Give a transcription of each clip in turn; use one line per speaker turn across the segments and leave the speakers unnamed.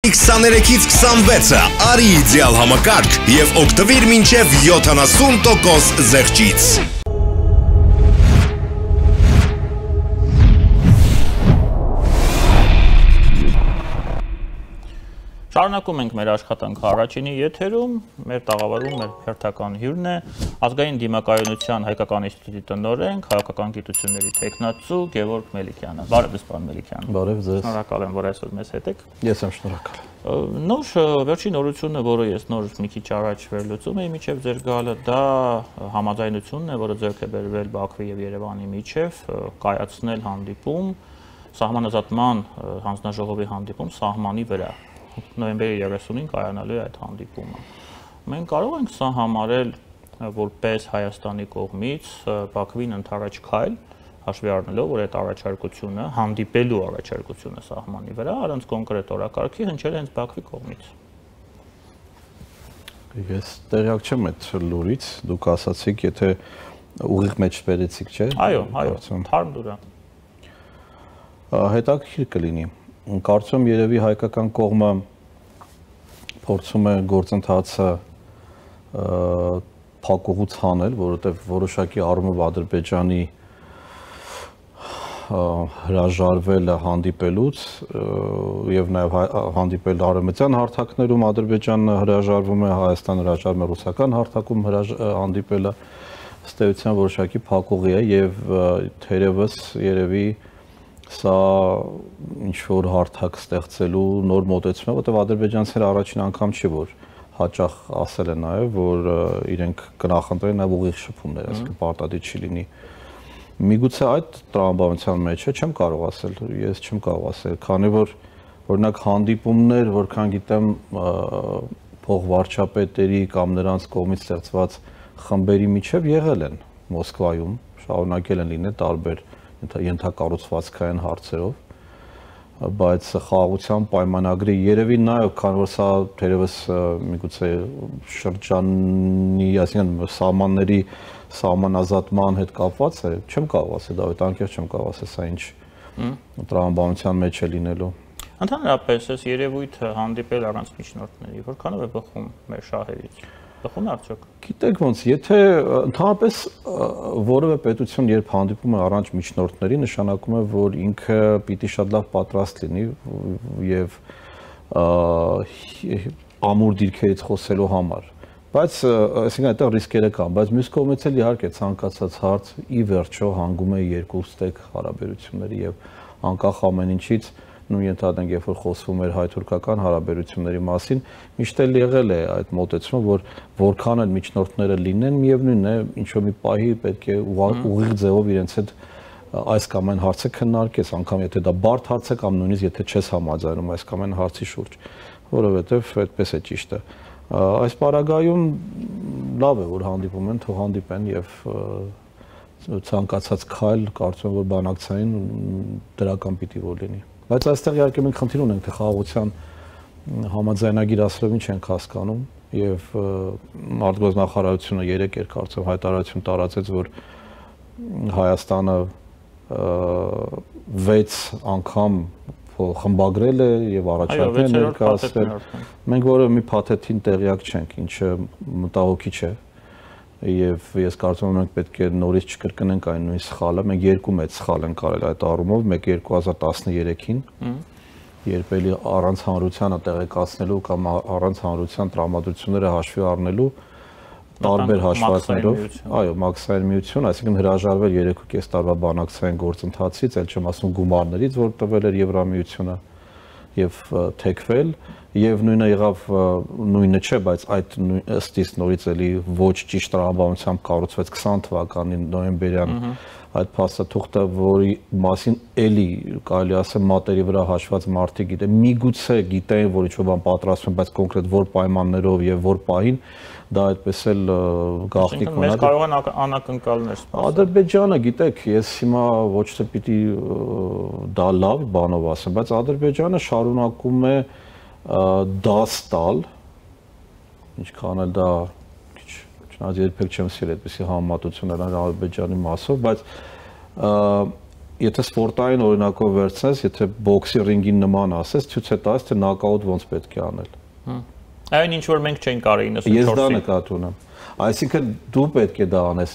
23-ից 26-ը արի իդեալ համակարգ և օգտվիր մինչև 70% զեղչից։
Շարունակում ենք մեր աշխատանքը առաջինի եթերում, մեր տաղավարում մեր հերթական հյուրն է Ազգային դիմակայունության հայկական ինստիտուտի տնօրեն, քաղաքական գիտությունների թեկնածու Գևորգ Մելիքյանը։ Բարև ձեզ, պարոն Մելիքյան։
Բարև ձեզ։
Շնորհակալ եմ, որ այսօր մեզ հետ եք։
Ես եմ շնորհակալ։
Նոր վերջին նորությունը, որը ես նոր մի քիչ առաջ վերլուծում էի միջև ձեր գալը, դա համաձայնությունն է, որը ձեռք է բերվել Բաքվի եւ Երևանի միջև, կայացնել հանդիպում, սահմանազատման հանձնաժողովի հանդիպում սահմանի վրա։ Նոյեմբերի 30-ին կայանալու է այդ հանդիպումը։ Մենք կարող ենք սա համարել որպես Հայաստանի կողմից Բաքվին ընդառաջ քայլ, հաշվի առնելով, որ այդ առաջարկությունը, հանդիպելու առաջարկությունը սահմանի վրա առանց կոնկրետ օրակարգի հնչել է հենց Բաքվի կողմից։
Ես տեղյակ չեմ այդ լուրից, դուք ասացիք, եթե ուղիղ մեջ բերեցիք, չէ՞։
Այո, թարմ լուր է։
Հետաքրքիր կլինի։ Կարծում երևի հայկական կողմը փորձում է գործընթացը փակուղուց հանել, որովհետև որոշակի առումով Ադրբեջանի հրաժարվելը հանդիպելուց եւ նաեւ հանդիպել արևմտյան հարթակներում Ադրբեջանը հրաժարվում է, Հայաստանը հրաժարվում է ռուսական հարթակում հանդիպելը ըստ էության որոշակի փակուղի է եւ թերևս երևի սա ինչ-որ հարթակ ստեղծելու նոր մոտեցում է, որտեղ ադրբեջանցիները առաջին անգամ չի, որ հաճախ ասել են նաև, որ իրենք կնախընտրեն նաև ուղիղ շփումներ, այսինքն պարտադիր չի լինի։ Միգուցե այդ տրամաբանության մեջ է, չեմ կարող ասել, ես չեմ կարող ասել, քանի որ օրինակ հանդիպումներ, որքան գիտեմ, փոխվարչապետերի կամ նրանց կողմից ստեղծված խմբերի միջև եղել են Մոսկվայում, շարունակել են լինել տարբեր ենթակառուցվածքային հարցերով, բայց խաղաղության պայմանագրի երևի նաև, քանի որ սա թերևս միգուցե շրջանի, այսինքն սահմանների սահմանազատման հետ կապված է, չեմ կարող ասել, Դավիթ, անկեղծ չեմ կարող ասել, սա ինչ տրամաբանության մեջ է լինելու։
Ընդհանրապես, այս երևույթը հանդիպել առանց միջնորդների, որքանով է բխում մեր շահերից։ Բխում է արդյոք։
Գիտեք ոնց, եթե ընդհանրապես որևէ պետություն երբ հանդիպում է առանց միջնորդների, նշանակում է, որ ինքը պիտի շատ լավ պատրաստ լինի եւ ամուր դիրքերից խոսելու համար։ Բայց այսինքն այդտեղ ռիսկերը կան, բայց մյուս կողմից էլ իհարկե ցանկացած հարց ի վերջո հանգում է երկու ստեկ հարաբերությունների եւ անկախ ամեն ինչից նույն ենթադրենք, երբ որ խոսվում էր հայ-թուրքական հարաբերությունների մասին, միշտ էլ եղել է այդ մոտեցումը, որ որքան էլ միջնորդները լինեն, միևնույնն է, ինչ-որ մի պահի պետք է ուղիղ ձևով իրենց հետ այս կամ այն հարցը քննարկես, անգամ եթե դա բարդ հարց է կամ նույնիսկ եթե չես համաձայնում այս կամ այն հարցի շուրջ, որովհետև այդպես է ճիշտը։ Այս պարագայում լավ է, որ հանդիպում են, թող հանդիպեն եւ ցանկացած քայլ կարծում եմ, որ բանակցային դրական պիտի որ լինի։ Բայց այստեղ իհարկե մենք խնդիր ունենք, թե խաղաղության համաձայնագիր ասելով ինչ ենք հասկանում եւ արտգործնախարարությունը 3 կարծեմ հայտարարություն տարածեց, որ Հայաստանը 6 անգամ խմբագրել է եւ առաջարկներ ներկայացրել։ Մենք որևէ մի փաթեթին տեղյակ չենք, ինչը մտահոգիչ է եւ ես կարծում եմ մենք պետք է նորից չկրկնենք այն նույն սխալը։ Մենք երկու մեծ սխալ ենք արել այդ առումով, մեկը 2013-ին, երբ էլի առանց հանրությանը տեղեկացնելու կամ առանց հանրության տրամադրությունները հաշվի առնելու տարբեր հաշվարկներով, այո, մաքսային միություն, այսինքն հրաժարվել 3.5 տարվա բանակցային գործընթացից, ել չեմ ասում գումարներից, որ տվել էր Եվրամիությունը եւ թեքվել եւ նույնը եղավ նույնը չէ, բայց այդ ըստիս նորից էլի ոչ ճիշտ տրամաբանությամբ կառուցվեց 20 թվականի նոյեմբերյան այդ փաստաթուղթը, որի մասին էլի կարելի ասել մատերի վրա հաշված մարդիկ գիտեն, միգուցե գիտեն, որ ինչ-որ բան պատրաստվում, բայց կոնկրետ որ պայմաններով եւ որ պահին դա այդպես էլ գաղտնիք մնաց։
Մենք կարող են անակնկալներ սպասել։ Ադրբեջանը,
գիտեք, ես հիմա ոչ թե պիտի դա լավ բանով ասեմ, բայց Ադրբեջանը շարունակում է դաս տալ, ինչքան էլ դա չնայած երբեք չեմ սիրել այդպիսի համեմատություններ Ադրբեջանի մասով, բայց եթե սպորտային օրինակով վերցնես, եթե բոքսի ռինգին նման ասես, ցույց է տալիս, թե նոկաուտ ոնց պետք է անել։
Այն ինչ որ մենք չենք արի 94-ին։
Ես դա նկատի ունեմ։ Այսինքն դու պետք է դա անես,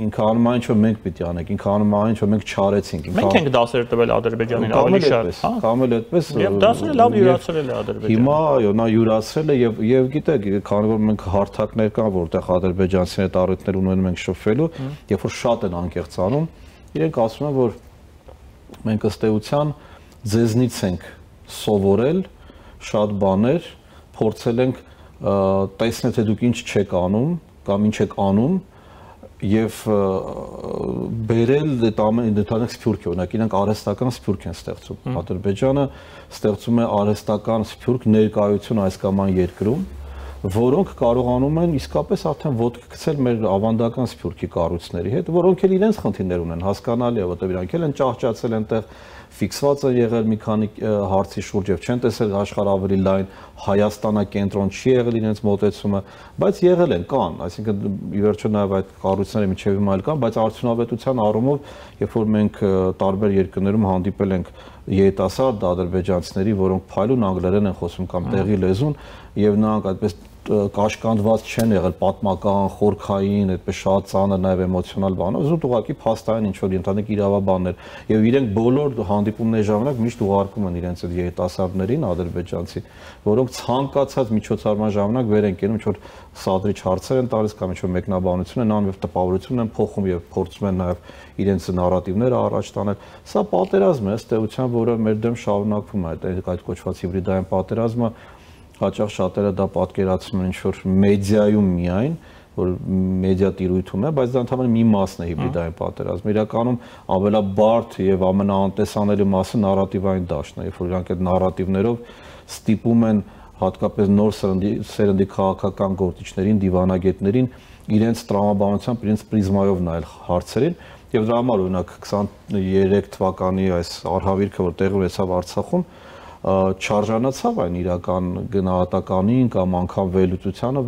ինքը անում է ինչ որ մենք պիտի անենք, ինքը անում է ինչ որ մենք չարեցինք։
Մենք ենք դասեր տվել Ադրբեջանին ավելի շատ, հա։
Կամ էլ այդպես։
Եվ դասերը լավ յուրացրել է Ադրբեջանը։
Հիմա այո, նա յուրացրել է եւ գիտեք, քանի որ մենք հարթակներ կան, որտեղ ադրբեջանցիների հետ առիթներ ունեն մենք շփվելու, երբ որ շատ են անկեղծ անում, իրենք ասում են, որ մենք ըստ էության ձեզնից ենք սովորել շատ բաներ, փորձել ենք տեսնել, թե դուք ինչ չեք անում կամ ինչ եք անում եւ բերել այդ ամենը դետալներ սփյուռք է, օրինակ իրենք արհեստական սփյուռք են ստեղծում։ Ադրբեջանը ստեղծում է արհեստական սփյուռք ներկայություն այս կամ այն երկրում, որոնք կարողանում են իսկապես արդեն ոտք գցել մեր ավանդական սփյուռքի կառույցների հետ, որոնք էլ իրենց խնդիրներ ունեն, հասկանալի է, որտեղ իրանք էլ են ճահճացել այնտեղ, ֆիքսված են եղել մի քանի հարցի շուրջ եւ չեն տեսել աշխարհ ավելի լայն, Հայաստանը կենտրոն չի եղել իրենց մոտեցումը, բայց եղել են, կան, այսինքն ի վերջո նաեւ այդ կառույցները միջև հիմա էլ կան, բայց արդյունավետության առումով, երբ որ մենք տարբեր երկրներում հանդիպել ենք երիտասարդ ադրբեջանցիների, որոնք փայլուն անգլերեն են խոսում կամ տեղի լեզուն, եւ նրանք այդպես կաշկանդված չեն եղել պատմական, խորքային, այդպես շատ ծանր նաև էմոցիոնալ բանով, զուտ ուղղակի փաստային ինչ որ ընդհանուր իրավաբաններ եւ իրենք բոլոր հանդիպումների ժամանակ միշտ ուղարկում են իրենց այդ երիտասարդներին ադրբեջանցի, որոնք ցանկացած միջոցառման ժամանակ վեր են կենում, ինչ որ սադրիչ հարցեր են տալիս կամ ինչ որ մեկնաբանություն են անում եւ տպավորություն են փոխում եւ փորձում են նաև իրենց նարատիվները առաջ տանել։ Սա պատերազմ է, ըստ էության, որը մեր դեմ շարունակվում է, այդ կոչված հիբրիդային պատերազմը հաճախ շատերը դա պատկերացնում են ինչ-որ մեդիայում միայն, որ մեդիա տիրույթում է, բայց դա ընդհանրապես մի մասն է հիբրիդային պատերազմը։ Իրականում ամենաբարդ եւ ամենաանտեսանելի մասը նարատիվային դաշտն է, երբ որ իրանք այդ նարատիվներով ստիպում են հատկապես նոր սերնդի քաղաքական գործիչներին, դիվանագետներին իրենց տրամաբանությամբ, իրենց պրիզմայով նայել հարցերին, եւ դրա համար օրինակ 23 թվականի այս արհավիրքը, որ տեղի ունեցավ Արցախում, չարժանացավ այն իրական գնահատականին կամ անգամ վերլուծությանը,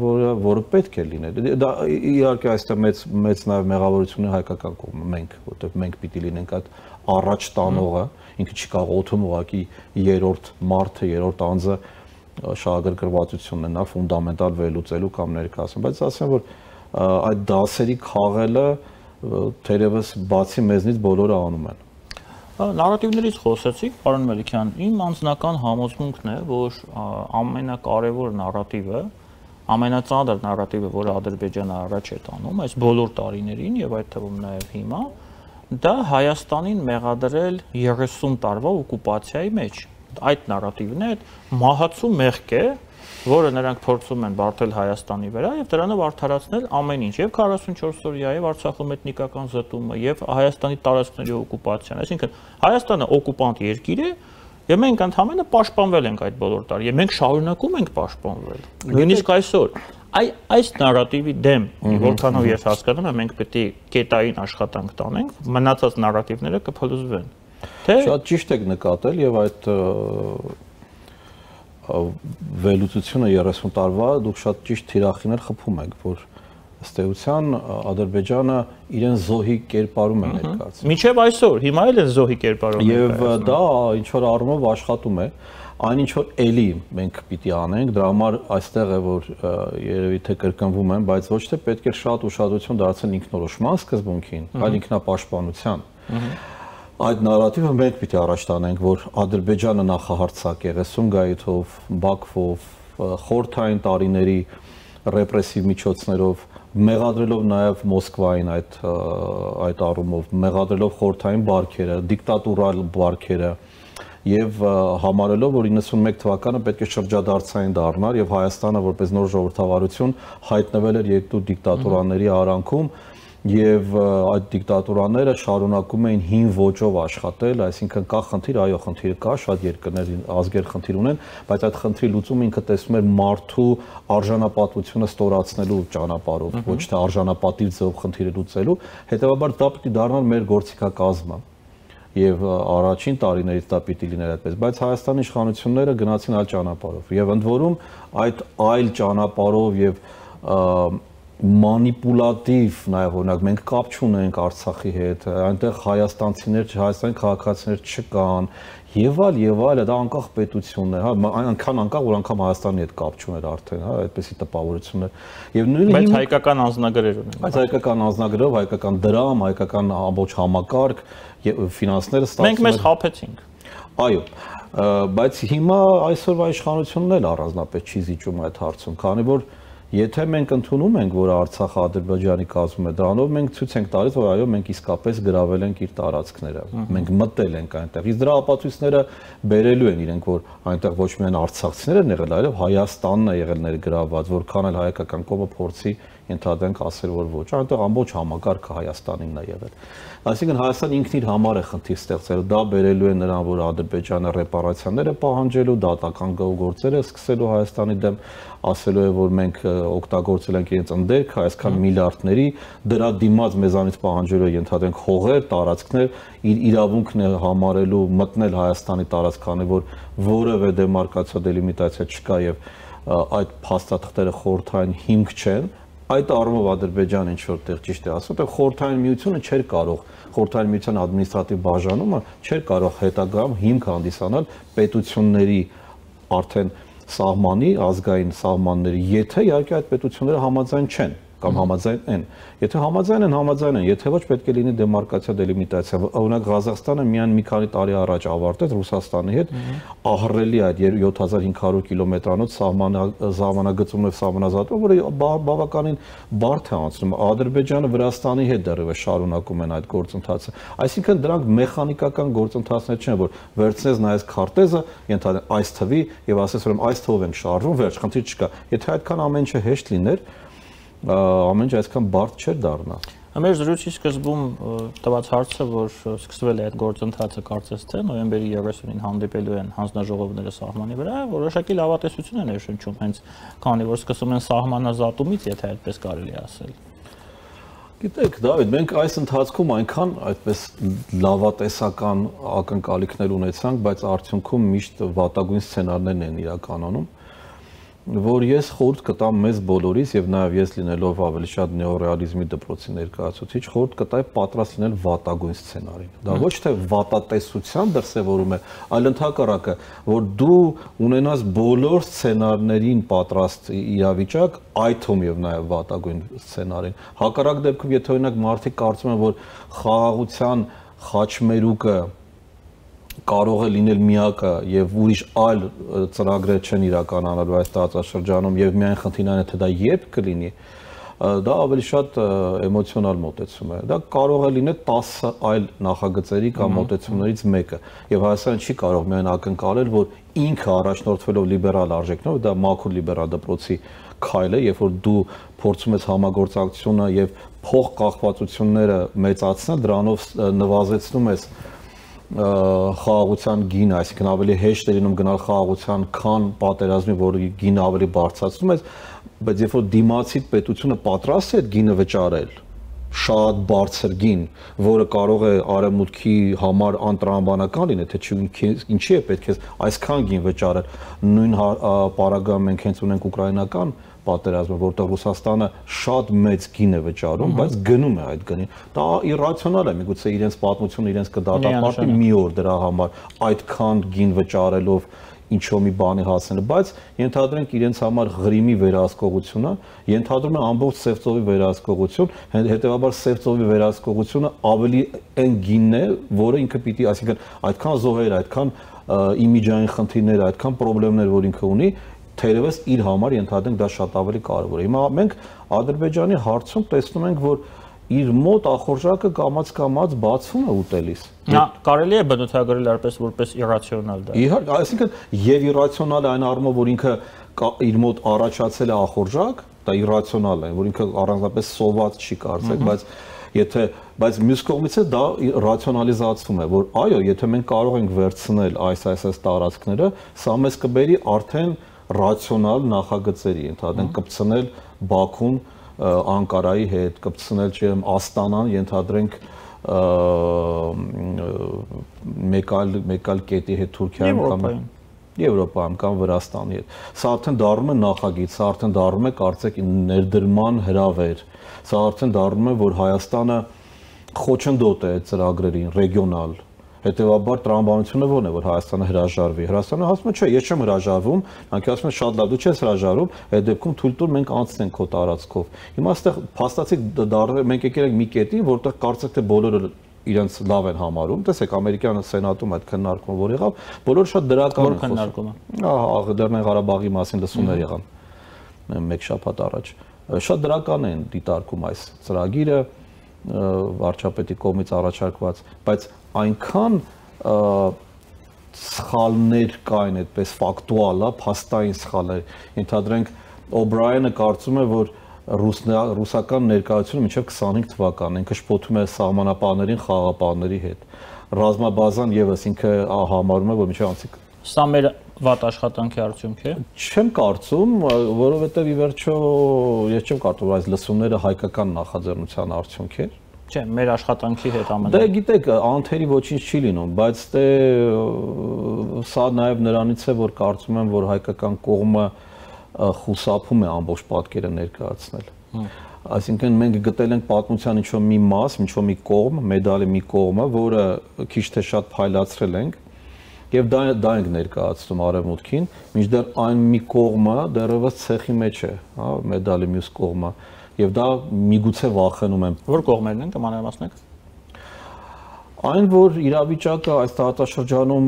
որը պետք է լիներ։ Դա իհարկե այստեղ մեծ նաև մեղավորություն է հայկական կողմը, մենք, որտեղ մենք պիտի լինենք այդ առաջ տանողը, ինքը չի կարող օդում ուղղակի երրորդ մարդը, երրորդ անձը շահագրգռվածությունն է նա ֆունդամենտալ վերլուծելու կամ ներկայացնում, բայց ասեմ, որ այդ դասերի քաղելը թերևս բացի մեզնից բոլորը անում են։
Նարատիվներից խոսեցիք, պարոն Մելիքյան, իմ անձնական համոզմունքն է, որ ամենակարևոր նարատիվը, ամենածանր նարատիվը, որը Ադրբեջանը առաջ է տանում այս բոլոր տարիներին եւ այդ թվում նաեւ հիմա, դա Հայաստանին մեղադրել 30 տարվա օկուպացիայի մեջ։ Այդ նարատիվն է, այդ մահացու մեղք է, որը նրանք փորձում են բարթել Հայաստանի վրա եւ դրանով արդարացնել ամեն ինչ, եւ 44-օրյա եւ Արցախում էթնիկական զտումը եւ Հայաստանի տարածքների օկուպացիան, այսինքն Հայաստանը օկուպանտ երկիր է եւ մենք ընդհանրապես պաշտպանվել ենք այդ բոլոր տարի եւ մենք շարունակում ենք պաշտպանվել։ Նույնիսկ այսօր այս նարատիվի դեմ, որքանով ես հասկանում եմ, մենք պետք է կետային աշխատանք տանենք, մնացած նարատիվները կփլուզվեն։ Թե
շատ ճիշտ եք նկատել եւ այդ վերլուծությունը 30 տարվա դուք շատ ճիշտ թիրախիներ խփում եք, որ ըստ էության Ադրբեջանը իրեն զոհի կերպարում է ներկայացնում։
Մինչև այսօր, հիմա էլ են զոհի կերպարում
եւ դա ինչ որ առումով աշխատում է, այն ինչ որ էլի մենք պիտի անենք, դրա համար այստեղ է որ երևի թե կրկնվում եմ, բայց ոչ թե պետք է շատ ուշադրություն դարձնել ինքնորոշման սկզբունքին, այլ ինքնապաշտպանության։ Այդ նարատիվը մենք պիտի առաջ տանենք, որ Ադրբեջանը նախահարցակ է 30 գայթով, Բաքվով, խորհրդային տարիների ռեպրեսիվ միջոցներով, մեղադրելով նաև Մոսկվային այդ առումով, մեղադրելով խորհրդային բարքերը, դիկտատուրալ բարքերը եւ համարելով, որ 91 թվականը պետք է շրջադարձային դառնար եւ Հայաստանը որպես նոր ժողովրդավարություն հայտնվել էր երկու դիկտատուրաների արանքում եւ այդ դիկտատուրաները շարունակում էին հին ոճով աշխատել, այսինքն կա խնդիր, այո, խնդիրը կա, շատ երկրներ ազգեր խնդիր ունեն, բայց այդ խնդրի լուծումը ինքը տեսնում էր մարդու արժանապատվությունը ստորացնելու ճանապարհով, ոչ թե արժանապատիվ ձևով խնդիրը լուծելու, հետեւաբար դա պիտի դառնար մեր գործիքակազմը։ Եվ առաջին տարիներից դա պիտի լիներ այդպես, բայց Հայաստանի իշխանությունները գնացին այլ ճանապարհով եւ ընդ որում այդ այլ ճանապարհով եւ մանիպուլատիվ նաև օրինակ մենք կապ չունենք Արցախի հետ, այնտեղ հայաստանցիներ, հայաստանի քաղաքացիներ չկան եւ այլ, դա անկախ պետությունն է, հա, այնքան անկախ, որ անգամ Հայաստանի հետ կապ չուներ արդեն, հա, այդպեսի տպավորություններ։ Եվ նույնը
բայց հայկական անձնագրեր ունեն։
Բայց հայկական անձնագրով, հայկական դրամ, հայկական ամբողջ համակարգ եւ ֆինանսները ստացվում են։
Մենք մեզ խաբեցինք։
Այո, բայց հիմա այսօրվա իշխանությունն էլ առանձնապես չի զիջում այդ հարցում, քանի որ եթե մենք ընդունում ենք, որ Արցախը Ադրբեջանի կազմում է, դրանով մենք ցույց ենք տալիս, որ այո, մենք իսկապես գրավել ենք իր տարածքները։ Մենք մտել ենք այնտեղ։ Իսկ դրա ապացույցները բերելու են իրենք, որ այնտեղ ոչ միայն արցախցիներ են եղել, այլև Հայաստանն է եղել ներգրավված, որքան էլ հայկական կողմը փորձի ընդհանրենք ասել, որ ոչ, այնտեղ ամբողջ համակարգը Հայաստանինն է եղել։ Այսինքն Հայաստանը ինքն իր համար է խնդիր ստեղծել, դա բերելու է նրան, որ Ադրբեջանը ռեպարացիաները պահանջելու, դատական գործերը սկսելու Հայաստանի դեմ, ասելու է, որ մենք օգտագործել ենք իրենց ընդերքը, այսքան միլիարդների, դրա դիմաց մեզանից պահանջելու է ընդհանրենք հողեր, տարածքներ, իր իրավունքն է համարելու մտնել Հայաստանի տարածք, քանի որ որևէ դեմարկացիա, դելիմիտացիա չկա եւ այդ փաստաթղթերը խորհրդային հիմք չեն։ Այդ առումով Ադրբեջանը ինչ որտեղ ճիշտ է ասում, որ խորհրդային միությունը չէր կարող, խորհրդային միության ադմինիստրատիվ բաժանումը չէր կարող հետագայում հիմք հանդիսանալ պետությունների արդեն սահմանի, ազգային սահմանների, եթե իհարկե այդ պետությունները համաձայն չեն կամ համաձայն են։ Եթե համաձայն են, եթե ոչ պետք է լինի դեմարկացիա, դելիմիտացիա։ Օրինակ Ղազախստանը միայն մի քանի տարի առաջ ավարտեց Ռուսաստանի հետ ահռելի այդ 7500 կիլոմետրանոց սահմանագծում եւ սահմանազատում, որը բավականին բարդ է անցնում։ Ադրբեջանը Վրաստանի հետ դեռևս շարունակում են այդ գործընթացը։ Այսինքն դրանք մեխանիկական գործընթացներ չեն, որ վերցնես նայես քարտեզը, ընդհանրապես այս թվի եւ ասես որ այս թվով ենք շարժվում, վերջ, խնդիր չկա։ Եթե այդքան ամեն ինչը հեշտ լիներ, ամեն ինչ այսքան բարդ չէր դառնա։
Մեր զրույցի սկզբում տված հարցը, որ սկսվել է այդ գործընթացը կարծես թե նոյեմբերի 30-ին հանդիպելու են հանձնաժողովները սահմանի վրա, որոշակի լավատեսություն է ներշնչում, հենց քանի որ սկսում են սահմանազատումից, եթե այդպես կարելի ասել։
Գիտեք, Դավիթ, մենք այս ընթացքում այնքան այդպես լավատեսական ակնկալիքներ ունեցանք, բայց արդյունքում միշտ վատագույն սցենարներն են իրականանում, որ ես խորհուրդ կտամ մեզ բոլորիս եւ նաեւ ես լինելով ավելի շատ նեոռեալիզմի դպրոցի ներկայացուցիչ խորհուրդ կտայի պատրաստ լինել վատագույն սցենարին։ Դա ոչ թե վատատեսության դրսևորում է, այլ ընդհակառակը, որ դու ունենաս բոլոր սցենարներին պատրաստ իրավիճակ, այդ թվում եւ նաեւ վատագույն սցենարին։ Հակառակ դեպքում, եթե օրինակ մարդիկ կարծում են, որ խաղաղության խաչմերուկը կարող է լինել միակը եւ ուրիշ այլ ծրագրեր չեն իրականանալու այս տարածաշրջանում եւ միայն խնդիրն է թե դա երբ կլինի, դա ավելի շատ էմոցիոնալ մոտեցում է։ Դա կարող է լինել 10 այլ նախագծերի կամ մոտեցումներից մեկը եւ Հայաստանը չի կարող միայն ակնկալել, որ ինքը առաջնորդվելով լիբերալ արժեքներով, դա մաքուր լիբերալ դպրոցի քայլ է, երբ որ դու փորձում ես համագործակցությունը եւ փոխկախվածությունները մեծացնել, դրանով նվազեցնում ես խաղաղության գինը, այսինքն ավելի հեշտ է լինում գնալ խաղաղության, քան պատերազմի, որի գինը ավելի բարձրացնում է, բայց երբ որ դիմացի պետությունը պատրաստ է այդ գինը վճարել, շատ բարձր գին, որը կարող է արևմուտքի համար անտրամաբանական լինել, թե ինչի է պետք է այսքան գին վճարել, նույն պարագայում մենք հենց ունենք ուկրաինական պատերազմը, որտեղ Ռուսաստանը շատ մեծ գին է վճարում, բայց գնում է այդ գնին։ Դա իրացիոնալ է, միգուցե իրենց պատմությունը իրենց կդատապարտի մի օր դրա համար այդքան գին վճարելով ինչ-որ մի բանի հասնել, բայց ենթադրենք իրենց համար Ղրիմի վերահսկողությունը, ենթադրում է ամբողջ Սևծովի վերահսկողություն, հետեւաբար Սևծովի վերահսկողությունը ավելի այն գինն է, որը ինքը պիտի, այսինքն այդքան զոհեր, այդքան իմիջային խնդիրներ, այդքան խնդիրներ, որ ինքը ունի, թերևս իր համար ենթադրենք դա շատ ավելի կարևոր է։ Հիմա մենք Ադրբեջանի հարցում տեսնում ենք, որ իր մոտ ախորժակը կամաց բացվում է ուտելիս։
Նա կարելի է բնութագրել որպես իրացիոնալ դա։
Իհարկե, այսինքն եւ իրացիոնալ է այն առումով, որ ինքը իր մոտ առաջացել է ախորժակ, դա իրացիոնալ է, որ ինքը առանձնապես սոված չի կարծեք, բայց մյուս կողմից է դա ռացիոնալիզացվում է, որ այո, եթե մենք կարող ենք վերցնել այս տարածքները, սա մեզ կբերի արդեն ռացիոնալ նախագծերի, ընդհանրենք կպցնել Բաքուն Անկարայի հետ, կպցնել Աստանան, ենթադրենք մեկ այլ կետի հետ Թուրքիայում կամ Եվրոպայում կամ Վրաստանի հետ։ Սա արդեն դառնում է նախագիծ, սա արդեն դառնում է կարծեք ներդրման հրավեր։ Սա արդեն դառնում է, որ Հայաստանը խոչընդոտ է ծրագրերին, ռեգիոնալ։ Հետևաբար տրամաբանությունը ո՞րն է, որ Հայաստանը հրաժարվի։ Հրաստանը ասում է, չէ, ես չեմ հրաժարվում, նրանք ասում են շատ լավ, դու չես հրաժարվում, այդ դեպքում թույլ տուր մենք անցնենք քո տարածքով։ Հիմա այստեղ փաստացի մենք եկել ենք մի կետին, որտեղ կարծեք թե բոլորը իրենց լավ են համարում։ Տեսեք, ամերիկյան սենատում այդ քննարկումը որ եղավ, բոլորը շատ դրական են խոսում։ Ահա, Լեռնային Ղարաբաղի մասին լսումներ եղան մեկ շաբաթ առաջ։ Շատ դրական են դիտարկում այս ծրագիրը վարչապետի կողմից առաջարկված, բայց այնքան սխալներ կային, այդպես ֆակտուալ, փաստային սխալներ։ Ենթադրենք Օբրայենը կարծում է, որ ռուսական ներկայությունը մինչև 25 թվականն ինքը շփոթում է սահմանապահներին խաղապահների հետ։ Ռազմաբազան եւս ինքը համարում է, որ մինչև անցիկ
Սա մեր վատ աշխատանքի արդյունք է։
Չեմ կարծում, որովհետև ի վերջո ես չեմ կարծում, որ այս լսումները հայկական նախաձեռնության արդյունք է։
Չէ, մեր աշխատանքի հետ ամենը։
Դե գիտեք, անթերի ոչինչ չի լինում, բայց դե սա նաև նրանից է, որ կարծում եմ, որ հայկական կողմը խուսափում է ամբողջ պատկերը ներկայացնել։ Այսինքն մենք գտել ենք պատմության ինչ-որ մի մաս, ինչ-որ մի կողմ, մեդալի մի կողմը, որը քիչ թե շատ փայլացրել ենք, եւ դա ենք ներկայացնում արևմուտքին, մինչդեռ այն մի կողմը դեռևս ցեխի մեջ է, հա, մեդալի մյուս կողմը, եւ դա միգուցե վախենում եմ։
Որ կողմերն են կմանրամասնեք։
Այն, որ իրավիճակը այս տարածաշրջանում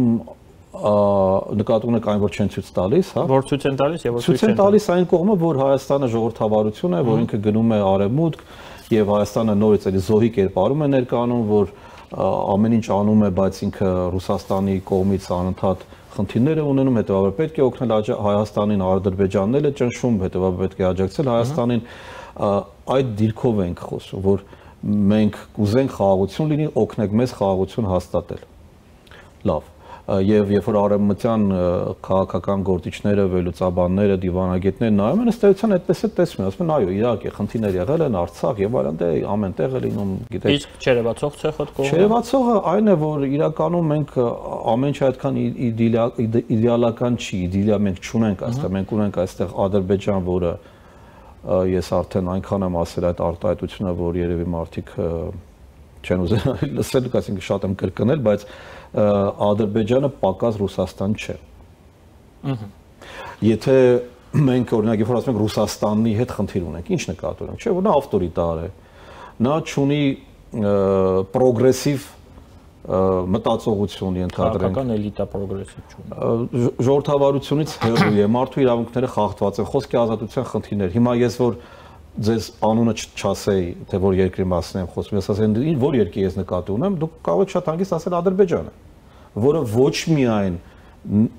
նկատի ունեք այն, որ չեն ցույց տալիս, հա։
Որ ցույց են տալիս եւ որ
ցույց են տալիս այն կողմը, որ Հայաստանը ժողովրդավարություն է, որ ինքը գնում է արևմուտք եւ Հայաստանը նորից էլի զոհի կերպարում է ներկայանում, որ ամեն ինչ անում է, բայց ինքը Ռուսաստանի կողմից անընդհատ խնդիրներ է ունենում, հետեւաբար պետք է օգնել Հայաստանին, Ադրբեջանն էլ է ճնշում, հետեւաբար պետք է աջակցել Հայաստանին, այդ դիրքով ենք խոսում, որ մենք կուզենք խաղաղություն լինի, օգնեք մեզ խաղաղություն հաստատել։ Լավ, եւ երբ որ արևմտյան քաղաքական գործիչները, վերլուծաբանները, դիվանագետները նայում են, ըստ էության այդպես է տեսնում, ասում են, այո, իհարկե, խնդիրներ եղել են Արցախ եւ այլն, դե ամենտեղ է լինում, գիտեք։
Իսկ չերևացող ցեխը կողմը։
Չերևացողը այն է, որ իրականում մենք ամեն ինչ այդքան իդեալական չի, իդեալիա մենք չունենք այստեղ, մենք ունենք այստեղ Ադրբեջան, որը ես արդեն այնքան եմ ասել այդ արտահայտությունը, որ երևի մարդիկ չեն ուզենա լսել, այսինքն շատ եմ կրկնել, բայց Ադրբեջանը պակաս Ռուսաստան չէ։ Եթե մենք օրինակ երբ որ ասում ենք Ռուսաստանի հետ խնդիր ունենք, ինչ նկատի ունենք, չէ՞ որ նա ավտորիտար է, նա չունի պրոգրեսիվ մտածողություն ենթադրենք։
Քաղաքական էլիտա պրոգրեսիվ չունի։
Ժողովրդավարությունից հեռու է, մարդու իրավունքները խախտված են, խոսքի ազատության խնդիրներ։ Հիմա ես որ ձեզ անունը չասեի, թե որ երկրի մասին եմ խոսում, ես ասեմ, որ երկրի ես նկատի ունեմ, դուք կարող եք շատ հանգիստ ասել Ադրբեջանը, որը ոչ միայն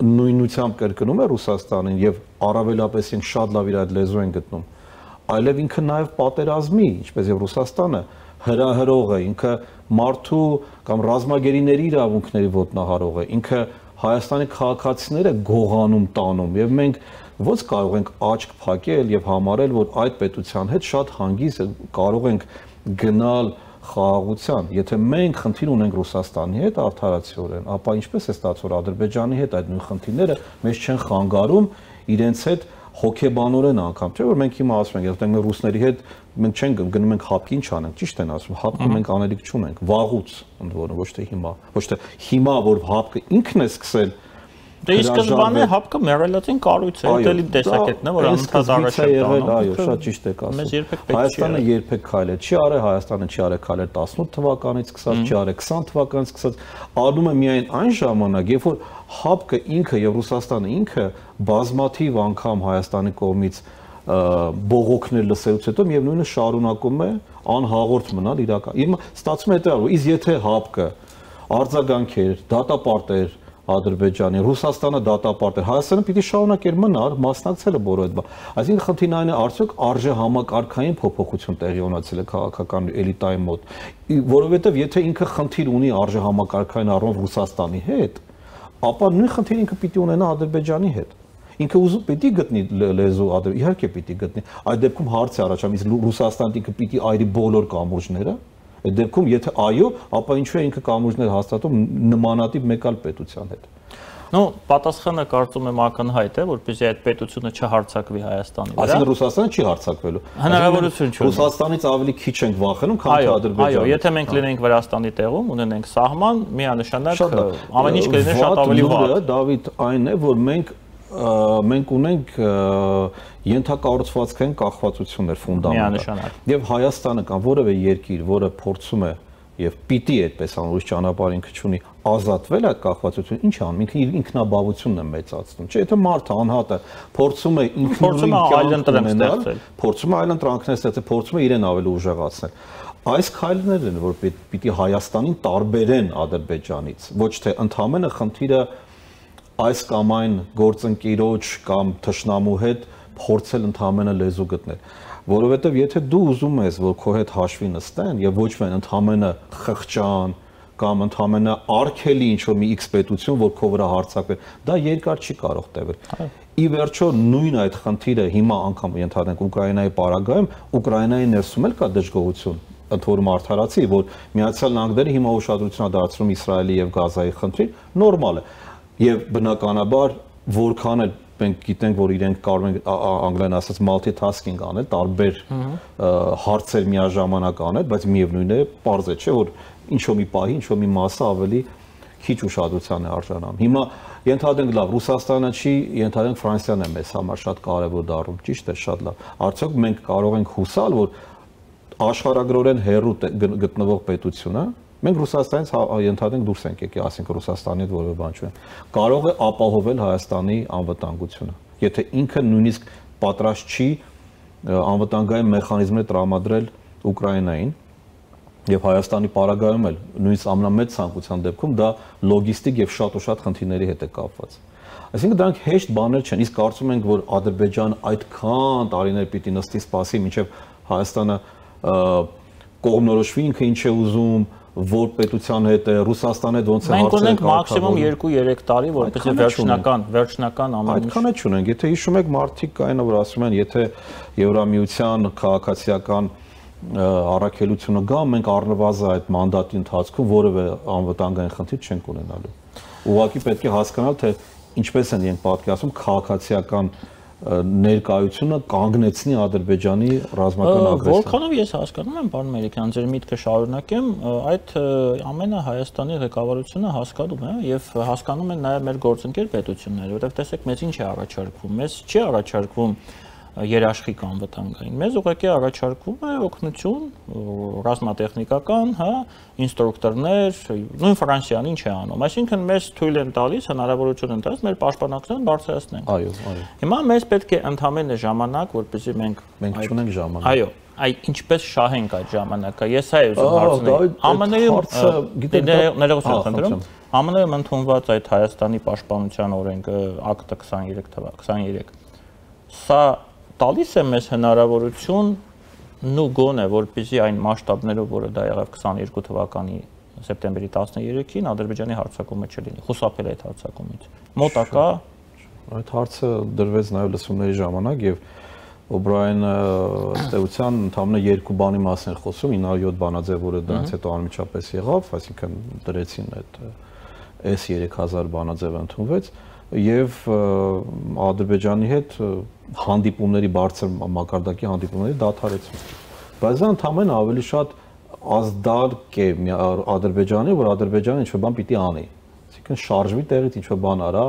նույնությամբ կրկնում է Ռուսաստանին եւ առավելապես ինք շատ լավ իր այդ լեզու են գտնում, այլև ինքը նաեւ պատերազմի, ինչպես եւ Ռուսաստանը հրահրող է, ինքը մարդու կամ ռազմագերիների իրավունքների ոտնահարող է, ինքը Հայաստանի քաղաքացիները գողանում տանում եւ մենք ոնց կարող ենք աչք փակել եւ համարել, որ այդ պետության հետ շատ հանգիստ կարող ենք գնալ խաղաղության, եթե մենք խնդիր ունենք Ռուսաստանի հետ արդարացիորեն, ապա ինչպես է ստացվում, որ Ադրբեջանի հետ այդ նույն խնդիրները մեզ չեն խանգարում իրենց հետ հոգեբանորեն անգամ, չէ՞ որ մենք հիմա ասում ենք, եթե մենք ռուսների հետ մենք չենք գնում ենք հապկի ինչ անենք, ճիշտ են ասում, հապկը մենք անելիք չունենք, վաղուց ընդ որում, ոչ թե հիմա, որ հապկը ինքն է սկսել։
Դե ի սկզբանե հապկը մերելացին կառույց է, էլի տեսակետն է, որ անընդհատ առաջ է տանում։
Այո, շատ ճիշտ եք ասում։ Հայաստանը երբեք քայլել չի արել, Հայաստանը չի արել քայլել 18 թվականից սկսած, չի արել 20 թվականից սկսած, անում է միայն այն ժամանակ, երբ որ հապկը ինքը եւ Ռուսաստանը ինքը բազմաթիվ անգամ Հայաստանի կողմից բողոքներ լսելուց հետո միևնույնը շարունակում է անհաղորդ մնալ իրական։ Հիմա ստացվում է դա, իսկ եթե հապկը արձագանքեր, դատապարտեր Ադրբեջանի, Ռուսաստանը դատապարտեր, Հայաստանը պիտի շարունակեր մնալ, մասնակցել է բոլոր այդ բան։ Այսինքն խնդիրն այն է, արդյոք արժե համակարգային փոփոխություն տեղի ունեցել է քաղաքական էլիտայի մոտ, որովհետև եթե ինքը խնդիր ունի արժե համակարգային առումով Ռուսաստանի հետ, ապա նույն խնդիրը ինքը պիտի ունենա Ադրբեջանի հետ։ Ինքը ուզում պիտի գտնի լեզու, իհարկե պիտի գտնի։ Այդ դեպքում հարց է առաջանում, իսկ Ռուսաստանը ինքը պիտի այրի բոլոր կամուրջները։ Այդ դեպքում եթե այո, ապա ինչու է ինքը կամուրջներ հաստատում նմանատիպ մեկ այլ պետության հետ։
Ну, պատասխանը կարծում եմ ակնհայտ է, որպեսզի այդ պետությունը չհարձակվի Հայաստանի վրա։
Այսինքն Ռուսաստանը չի հարձակվելու։
Հնարավորություն չունի։
Ռուսաստանից ավելի քիչ ենք վախենում, քան թե Ադրբեջանը։
Այո, եթե մենք լինենք Վրաստանի տեղում, ունենենք սահման, միանշանակ ամեն ինչ կլիներ շատ ավելի վատ։
Դավիթ, այն է, որ մենք ունենք ենթակառուցվածքային կախվածություններ ֆունդամենտալ։ Եվ Հայաստանը կամ որևէ երկիր, որը փորձում է եւ պիտի այդպես ան ուրիշ ճանապարհ ինքը չունի ազատվել այդ կախվածությունից, ինչ անում, ինքը իր ինքնաբավությունն է մեծացնում։ Չէ, եթե մարդը անհատը փորձում է ինքնուրույն կյանք ունենալ, փորձում է այլ ընտրանքներ ստեղծել, փորձում է իրեն ավելի ուժեղացնել։ Այս քայլերն են, որ պիտի Հայաստանին տարբերեն Ադրբեջանից, ոչ թե ընդհանրապես խնդիրը այս կամ այն գործընկերոջ կամ թշնամու հետ փորձել ընդհանրապես լեզու գտնել։ Որովհետև եթե դու ուզում ես, որ քո հետ հաշվի նստեն եւ ոչ միայն ընդհանրապես խղճան կամ ընդհանրապես արգելի ինչ-որ մի X պետություն, որ քո վրա հարձակվի, դա երկար չի կարող տևել։ Ի վերջո նույն այդ խնդիրը հիմա անգամ ենթադրենք Ուկրաինայի պարագայում, Ուկրաինայի ներսում էլ կա դժգոհություն, ընդ որում արդարացի, որ Միացյալ Նահանգները հիմա ուշադրություն է դարձնում Իսրայելի եւ Գազայի խնդրին, նորմալ է։ Եվ բնականաբար որքան էլ մենք գիտենք, որ իրենք կարող են անգլերեն ասած multitasking անել, տարբեր հարցեր միաժամանակ անել, բայց միևնույն է, պարզ է, չէ, որ ինչ-որ մի պահի, ինչ-որ մի մասը ավելի քիչ ուշադրության է արժանանում։ Հիմա ենթադրենք լավ, Ռուսաստանը չի, ենթադրենք Ֆրանսիան է մեզ համար շատ կարևոր դառնում, ճիշտ է, շատ լավ։ Արդյոք մենք կարող ենք հուսալ, որ աշխարհագրորեն հեռու գտնվող պետությունը, մենք Ռուսաստանից ենթադրենք դուրս ենք եկել, ասենք Ռուսաստանի հետ որևէ բան չունենք, կարող է ապահովել Հայաստանի անվտանգությունը, եթե ինքը նույնիսկ պատրաստ չի անվտանգային մեխանիզմներ տրամադրել Ուկրաինային եւ Հայաստանի պարագայում էլ նույնիսկ ամենամեծ ցանկության դեպքում դա լոգիստիկ եւ շատ ու շատ խնդիրների հետ է կապված։ Այսինքն դրանք հեշտ բաներ չեն, իսկ կարծում ենք, որ Ադրբեջանը այդքան տարիներ պիտի նստի սպասի, մինչեւ Հայաստանը կողմնորոշվի ինքը ինչ է ուզում, որ պետության հետ է, Ռուսաստանի հետ ոնց է
հարցերը։ Մենք ունենք մաքսիմում 2-3 տարի, որպեսզի վերջնական ամեն ինչ։
Այդքան է չունենք, եթե հիշում եք մարդիկ կային, որ ասում են, եթե Եվրամիության քաղաքացիական առաքելությունը գա, մենք առնվազն այդ մանդատի ընթացքում որևէ անվտանգային խնդիր չենք ունենալու։ Ուղղակի պետք է հասկանալ, թե ինչպես են իրենք պատկերացնում քաղաքացիական ներկայությունը կանգնեցնի Ադրբեջանի ռազմական ագրեսիան։
Որքանով ես հասկանում եմ, պարոն Մելիքյան, ձեր միտքը շարունակեմ, այդ ամենը Հայաստանի ղեկավարությունը հասկանում է եւ հասկանում են նաեւ մեր գործընկեր պետությունները, որովհետեւ տեսեք, մեզ ինչ է առաջարկվում, մեզ չի առաջարկվում երաշխիք անվտանգային, մեզ ուղղակի առաջարկվում է օգնություն ռազմատեխնիկական, հա, ինստրուկտորներ, նույն Ֆրանսիան ինչ է անում, այսինքն մեզ թույլ են տալիս, հնարավորություն են տալիս մեր պաշտպանակցությունը բարձրացնենք։
Այո, այո։
Հիմա մեզ պետք է ընդհանրապես ժամանակ, որպեսզի մենք
չունենք ժամանակ։
Այո, այ ինչպես շահենք այդ ժամանակը։ Ես այ ուզում հարցնել, ԱՄՆ-ում ընդունված այդ Հայաստանի պաշտպանության օրենքը ակտը 23 սա տալիս է մեզ հնարավորություն նու գոնե, որպեսզի այն մասշտաբներով, որը դա եղավ 22 թվականի սեպտեմբերի 13-ին Ադրբեջանի հարձակումը չլինի, խուսափել այդ հարձակումից։ Մոտակա
այդ հարցը դրվեց նաև լսումների ժամանակ եւ Օբրայենը ըստեյության ընդհանրապես երկու բանի մասին էր խոսում, 907 բանաձև, որը դրանից հետո անմիջապես եղավ, այսինքն դրեցին այդ S3000 բանաձևը ընդունվեց եւ Ադրբեջանի հետ հանդիպումների բարձր մակարդակի հանդիպումների դադարեցում։ Բայց դա ընդհանրապես ավելի շատ ազդարկ է Ադրբեջանի, որ Ադրբեջանը ինչ-որ բան պիտի անի։ Այսինքն շարժվի տեղից ինչ-որ բան արա,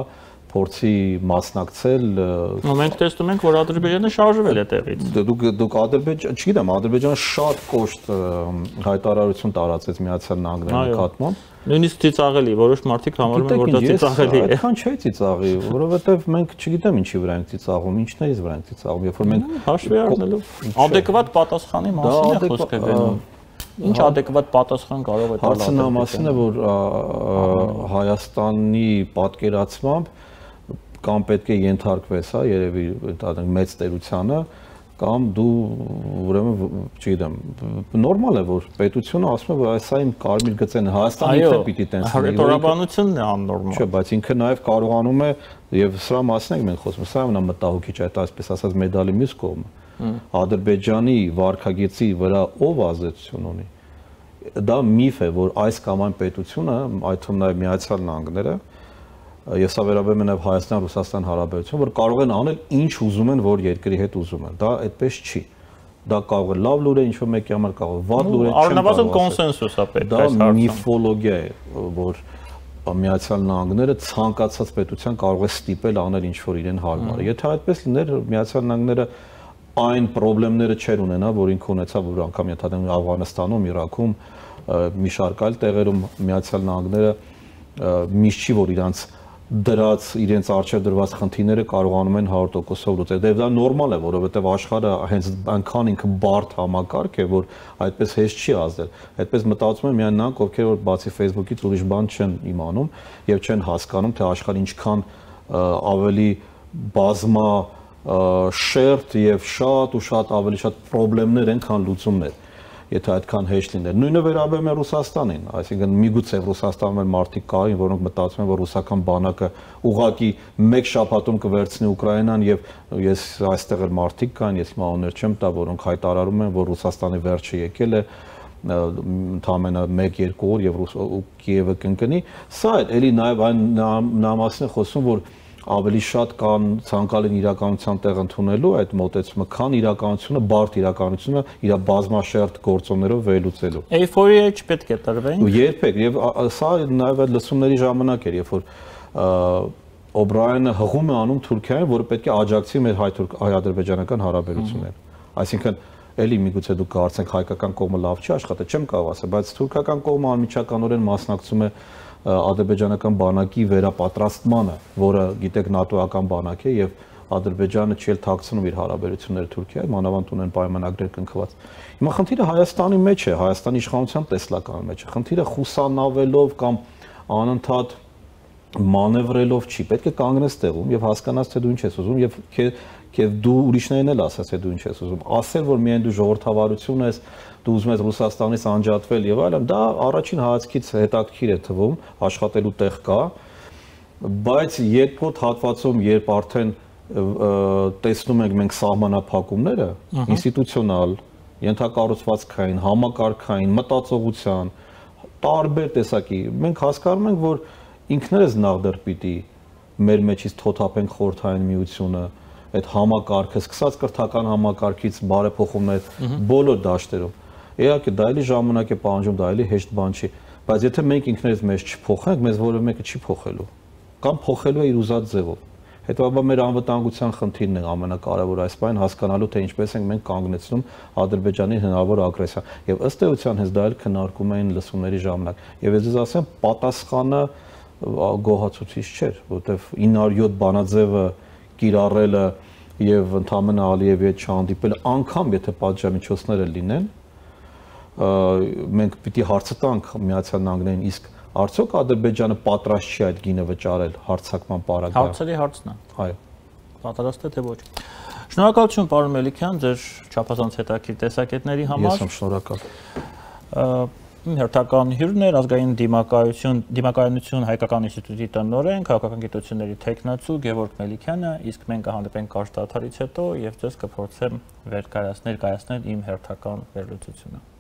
փորձի մասնակցել։
Մենք տեսնում ենք, որ Ադրբեջանը շարժվել է տեղից։
Դուք Ադրբեջան, չգիտեմ, Ադրբեջանը շատ կոշտ հայտարարություն տարածեց Միացյալ Նահանգների նկատմամբ։
Նույնիսկ ծիծաղելի, որոշ մարդիկ համարում են, որ դա ծիծաղելի է։
Այդքան չէ ծիծաղի, որովհետև մենք չգիտեմ ինչի վրա ենք ծիծաղում, ինչներից վրա ենք ծիծաղում, երբ որ մենք
հաշվի առնելով adekvat պատասխանի մասին է խոսքը գնում։ Ինչ adekvat պատասխան կարող է տալ։
Հարցը նա մասին է, որ Հայաստանի պատկերացմամբ կամ պետք է ենթարկվես, հա, երևի այդտեղ մեծ տերությանը, կամ դու ուրեմն, չգիտեմ, նորմալ է, որ պետությունը ասում է, որ այսա իմ կարմիր գծեն Հայաստանի ինքը պիտի տենց լինի։
Հռետորաբանությունն է աննորմալ։
Չէ, բայց ինքը նաև կարողանում է, եւ սրա մասին ենք մենք խոսում, սա ամենամտահոգիչ է, այսպես ասած մեդալի մյուս կողմը։ Ադրբեջանի վարքագծի վրա ով ազդեցություն ունի։ Դա միֆ է, որ այս կամ այն պետությունը, այդ թվում նաև Միացյալ Նահանգները, եւ սա վերաբերում է նաեւ Հայաստան-Ռուսաստան հարաբերություն, որ կարող են անել ինչ ուզում են, որ երկրի հետ ուզում են։ Դա այդպես չի։ Դա կարող է լավ լուր է, ինչ որ մեկի համար կարող է վատ լուր է,
առնվազն կոնսենսուս է պետք այս հարցում։
Դա միֆոլոգիա է, որ Միացյալ Նահանգները ցանկացած պետության կարող է ստիպել անել ինչ որ իրեն հարմար է։ Եթե այդպես լիներ, Միացյալ Նահանգները այն խնդիրները չեր ունենա, որ ինքը ունեցավ, որ անգամ ենթադրում Աֆղանստանում, Իրաքում, մի շարք այլ տեղերում Միացյալ Նահանգները միշտ չի, որ իրենց արժեվ դրված խնդիրները կարողանում են 100%-ով լուծել։ Դե դա նորմալ է, որովհետև աշխարհը հենց այնքան ինքը բարդ համակարգ է, որ այդպես հեշտ չի ազդել։ Այդպես մտածում են միայն նրանք, ովքեր որ բացի Facebook-ից ուրիշ բան չեն իմանում եւ չեն հասկանում, թե աշխարհը ինչքան ավելի բազմա շերտ եւ շատ ավելի շատ խնդիրներ են, քան լուծումներ։ Եթե այդքան հեշտ լիներ։ Նույնը վերաբերում է Ռուսաստանին, այսինքն միգուցե Ռուսաստանում են մարդիկ կային, որոնք մտածում են, որ ռուսական բանակը ուղղակի մեկ շաբաթում կվերցնի Ուկրաինան եւ ես այստեղ էլ մարդիկ կան, ես հիմա օներ չեմ տա, որոնք հայտարարում են, որ Ռուսաստանի վերջը եկել է ընդամենը 1-2 օր եւ Կիևը կընկնի։ Սա էլի նաեւ այն նամասն է խոսում, որ ավելի շատ կան ցանկալին իրականության տեղ ընդունելու այդ մոտեցումը, քան իրականությունը, բարդ իրականությունը իր բազմաշերտ գործոններով վերլուծելու։
Էյֆորիա չպետք է տրվենք։
Երբեք, եւ սա նաեւ այդ լսումների ժամանակ էր, երբ որ Օբրայանը հղում է անում Թուրքիային, որը պետք է աջակցի մեր հայ-ադրբեջանական հարաբերություններին։ Այսինքն էլի միգուցե դուք կարծեք հայկական կողմը լավ չի աշխատել, չեմ կարող ասել, բայց թուրքական կողմը անմիջականորեն մասնակցում է ադրբեջանական բանակի վերապատրաստմանը, որը գիտեք նատոական բանակ է եւ Ադրբեջանը չի թաքցնում իր հարաբերությունները Թուրքիայի, մանավանդ ունեն պայմանագրեր կնքված։ Հիմա խնդիրը Հայաստանի մեջ է, Հայաստանի իշխանության տեսլականի մեջ է։ Խնդիրը խուսանավելով կամ անընդհատ մանևրելով չի, պետք է կանգնես տեղում եւ հասկանաս, թե դու ինչ ես ուզում եւ դու ուրիշներին էլ ասես, թե դու ինչ ես ուզում։ Ասել, որ միայն դու ժողովրդավարություն ես, դու ուզում ես Ռուսաստանից անջատվել եւ այլն, դա առաջին հայացքից հետաքրքիր է թվում, աշխատելու տեղ կա, բայց երկրորդ հատվածում, երբ արդեն տեսնում ենք մենք սահմանափակումները, ինստիտուցիոնալ, ենթակառուցվածքային, համակարգային, մտածողության, տարբեր տեսակի, մենք հասկանում ենք, որ ինքներս նախ պիտի մեր մեջից թոթափենք խորհրդային միությունը, այդ համակարգը, սկսած կրթական համակարգից բարեփոխումներ բոլոր դաշտերում։ Իհարկե դա էլի ժամանակ է պահանջում, դա էլի հեշտ բան չի, բայց եթե մենք ինքներս մեզ չփոխենք, մեզ որևէ մեկը չի փոխելու, կամ փոխելու է իր ուզած ձևով։ Հետո մեր անվտանգության խնդիրն է ամենակարևորը այս բանը հասկանալու, թե ինչպես ենք մենք կանգնեցնում Ադրբեջանի հնարավոր ագրեսիա։ Եվ ըստ էության հենց դա էլ քննարկում էին լսումների ժամանակ։ Եվ ես ասեմ, պատասխանը գոհացուցիչ չէր, որովհետև 907 բանաձևը կիրառելը եւ ընդամենը Ալիևի հետ չհանդիպելը, անգամ եթե պատժամիջոցները լինեն, մենք պիտի հարցը տանք Միացյալ Նահանգներին, իսկ արդյոք Ադրբեջանը պատրաստ չի այդ գինը վճարել հարձակման պարագայում։
Հարցերի հարցն է։
Այո։
Պատրաստ է թե ոչ։ Շնորհակալություն պարոն Մելիքյան ձեր չափազանց հետաքրքիր տեսակետների համար։
Ես եմ շնորհակալ։
Իմ հերթական հյուրն էր ազգային դիմակայունություն հայկական ինստիտուտի տնօրեն, քաղաքական գիտությունների թեկնածու Գևորգ Մելիքյանը, իսկ մենք կհանդիպենք կարճ դադարից հետո եւ ձեզ կփորձեմ ներկայացնել իմ հերթական վերլուծությունը։